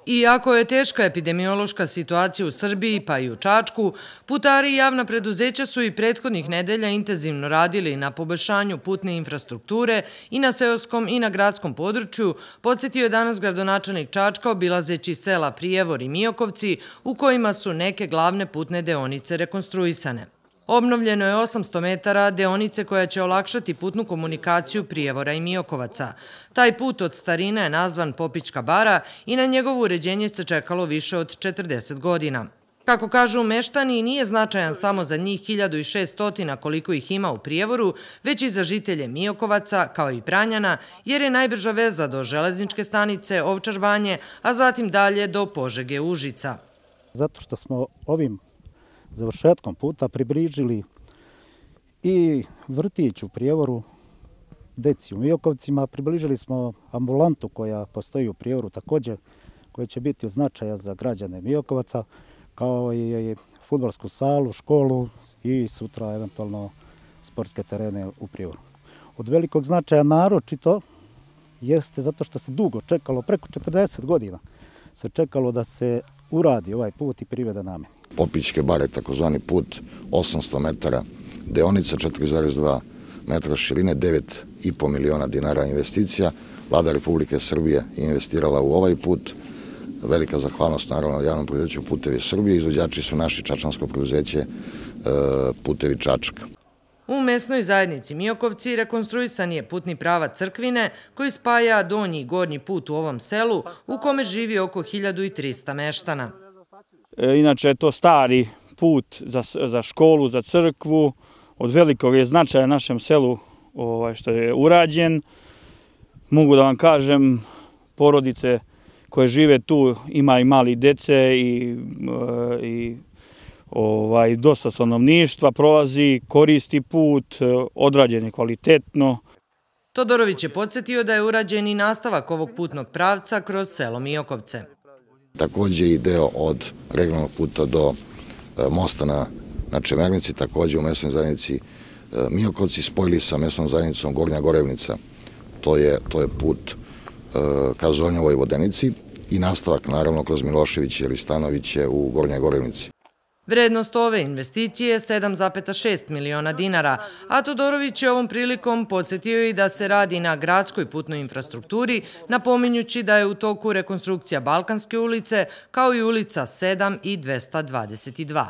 Iako je teška epidemiološka situacija u Srbiji pa i u Čačku, putari i javna preduzeća su i prethodnih nedelja intenzivno radili na poboljšanju putne infrastrukture i na seoskom i na gradskom području, podsjetio je danas gradonačelnik Čačka obilazeći sela Prijevor i Miokovci u kojima su neke glavne putne deonice rekonstruisane. Obnovljeno je 800 metara deonice koja će olakšati putnu komunikaciju Prijevora i Miokovaca. Taj put od starine je nazvan Popićka bara i na njegovo uređenje se čekalo više od 40 godina. Kako kažu meštani, nije značajan samo za njih 1600 koliko ih ima u Prijevoru, već i za žitelje Miokovaca, kao i Pranjana, jer je najbrža veza do železničke stanice Ovčar Banje, a zatim dalje do Požege Užica. Zato što smo ovim završetkom puta približili i vrtić u Prijevoru, deci u Miokovcima, približili smo ambulantu koja postoji u Prijevoru također, koja će biti od značaja za građane Miokovaca, kao i fudbalsku salu, školu i sutra eventualno sportske terene u Prijevoru. Od velikog značaja naročito jeste zato što se dugo čekalo, preko 40 godina se čekalo da se uradi ovaj put i privede nameni. Popićke bare, takozvani put, 800 metara deonica, 4,2 metra širine, 9,5 miliona dinara investicija. Vlada Republike Srbije je investirala u ovaj put. Velika zahvalnost naravno javnom preduzeću Putevi Srbije. Izvođači su naši čačansko preduzeće Putevi Čačka. U mesnoj zajednici Miokovci rekonstruisan je putni pravac Crkvine koji spaja donji i gornji put u ovom selu u kome živi oko 1300 meštana. Inače je to stari put za školu, za crkvu. Od velikog je značaja našem selu što je urađen. Mogu da vam kažem, porodice koje žive tu ima i mali dece i dosta stanovništva prolazi, koristi put, odrađen je kvalitetno. Todorović je podsjetio da je urađen i nastavak ovog putnog pravca kroz selo Miokovce. Također i deo od regionalnog puta do mosta na Čemernici, također u mesnoj zajednici Miokovci spojili sa mesnom zajednicom Gornja Gorevnica. To je put ka Zornjevoj Vodenici i nastavak naravno kroz Miloševiće ili Stanoviće u Gornjoj Gorevnici. Vrednost ove investicije je 7,6 miliona dinara, a Todorović je ovom prilikom podsjetio i da se radi na gradskoj putnoj infrastrukturi, napominjući da je u toku rekonstrukcija Balkanske ulice, kao i ulica 7 i 222.